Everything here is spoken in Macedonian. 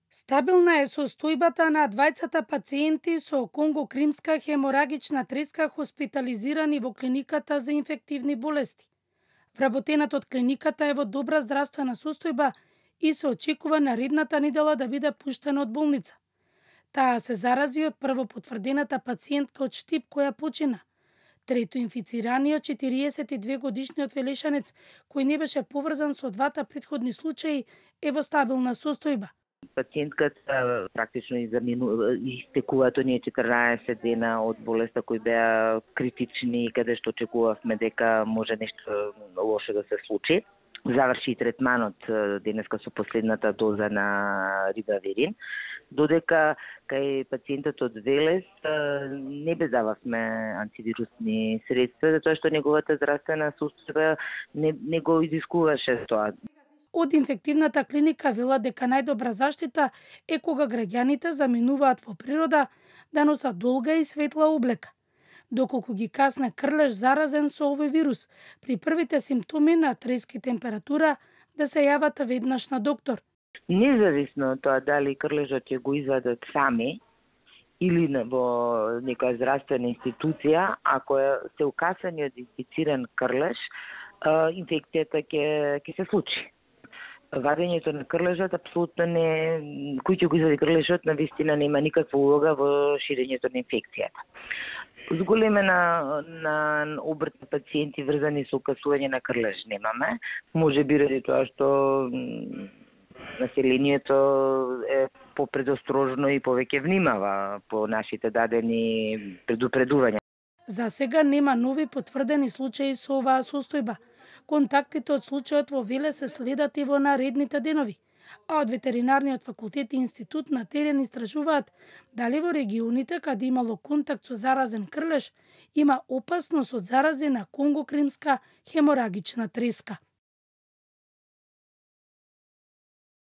Стабилна е состојбата на двајцата пациенти со конгокримска хеморагична треска хоспитализирани во клиниката за инфективни болести. Вработената од клиниката е во добра здравствена состојба и се очекува наредната недела да биде пуштена од болница. Таа се зарази од првопотврдената пациентка од Штип која почина. Трето инфицираниот 42-годишниот велешанец, кој не беше поврзан со двата претходни случаи, е во стабилна состојба. Пациентката практично истекуваат оние 14 дена од болеста кои беа критични, каде што очекувавме дека може нешто лошо да се случи. Заврши третманот денеска со последната доза на рибаверин, додека кај пациентот од Велес не бездававме антивирусни средства, затоа што неговата здравствена состојба не го изискуваше тоа. Од инфективната клиника велат дека најдобра заштита е кога граѓаните заминуваат во природа да носат долга и светла облека. Доколку ги касне крлеш заразен со овој вирус, при првите симптоми на треска и температура да се јават веднаш на доктор. Независно од тоа дали крлежот ќе го извадат сами или во некоја здравствена институција, ако се укасани од инфициран крлеж, инфекцијата ќе се случи. Вадењето на крлежот апсолутно не, кој ќе го извади крлежот, навистина нема никаква улога во ширењето на инфекцијата. Зголемена на обрт на пациенти врзани со укасување на крлеж немаме, може би ради тоа што населението е попредострожно и повеќе внимава по нашите дадени предупредувања. За сега нема нови потврдени случаи со оваа состојба. Контактите од случајот во Велес се следат и во наредните денови, а од ветеринарниот факултет и институт на терен истражуваат дали во регионите каде имало контакт со заразен крлеж има опасност од зарази на конгокримска хеморагична треска.